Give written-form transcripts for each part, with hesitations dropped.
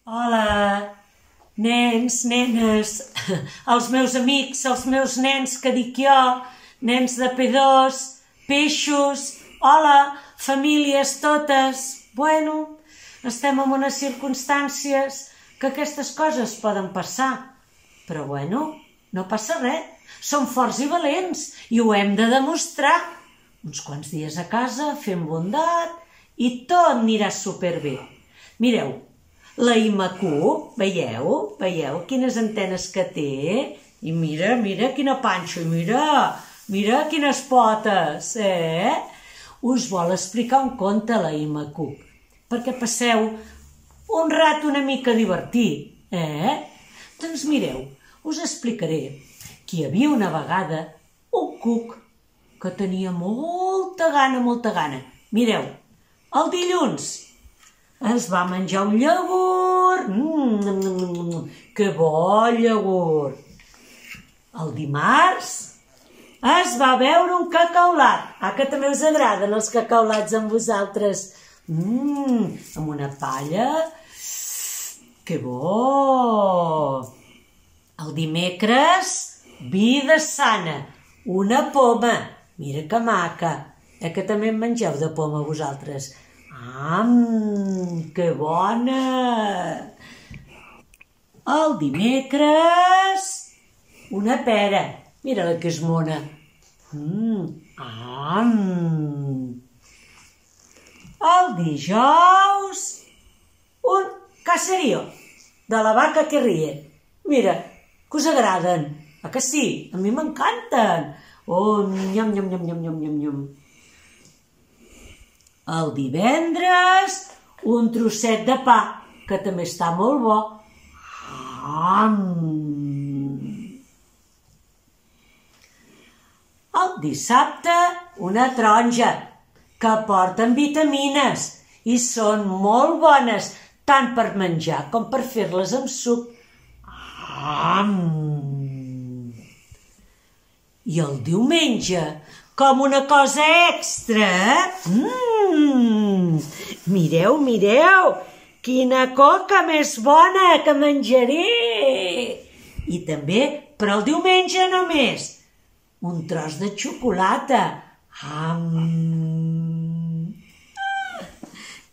Hola, nens, nenes, els meus amics, els meus nens que dic jo, nens de P2, peixos, hola, famílies totes. Bueno, estem en unes circumstàncies que aquestes coses poden passar, però bueno, no passa res, som forts i valents i ho hem de demostrar. Uns quants dies a casa, fent bondat i tot anirà superbé. Mireu, la Imacu, veieu? Veieu quines antenes que té? I mira, mira quina panxa, i mira quines potes, Us vol explicar un conte, la Imacu, perquè passeu un rato una mica divertit, Doncs mireu, us explicaré que hi havia una vegada un cuc que tenia molta gana. Mireu, el dilluns es va menjar un iogurt, que bo iogurt. El dimarts es va beure un cacaulat, que també us agraden els cacaulats amb vosaltres, amb una palla, que bo. El dimecres, vida sana, una poma, mira que maca, que també en mengeu de poma vosaltres. Que bona! El dimecres, una pera. Mira-la que és mona. El dijous, un caserío de la vaca que ríe. Mira, que us agraden? Que sí? A mi m'encanten. Nyam, nyam, nyam, nyam, nyam, nyam, nyam. El divendres, un trosset de pa, que també està molt bo. El dissabte, una taronja, que porten vitamines i són molt bones, tant per menjar com per fer-les amb suc. I el diumenge, com una cosa extra, Mireu, quina coca més bona que menjaré! I també, per al diumenge només, un tros de xocolata.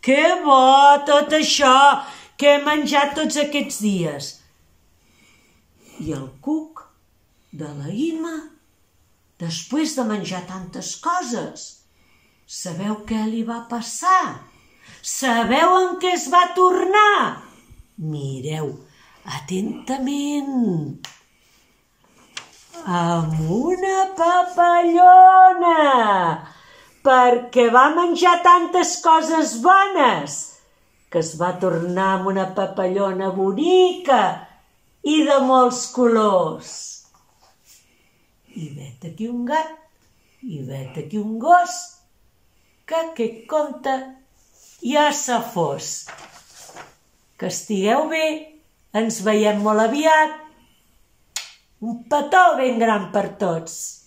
Que bo tot això que he menjat tots aquests dies. I el cuc de la Ima, després de menjar tantes coses, sabeu què li va passar? Sabeu en què es va tornar? Mireu, atentament. Amb una papallona, perquè va menjar tantes coses bones que es va tornar amb una papallona bonica i de molts colors. I vet aquí un gat, i vet aquí un gos, que aquest conte ja se fos. Que estigueu bé, ens veiem molt aviat. Un petó ben gran per tots.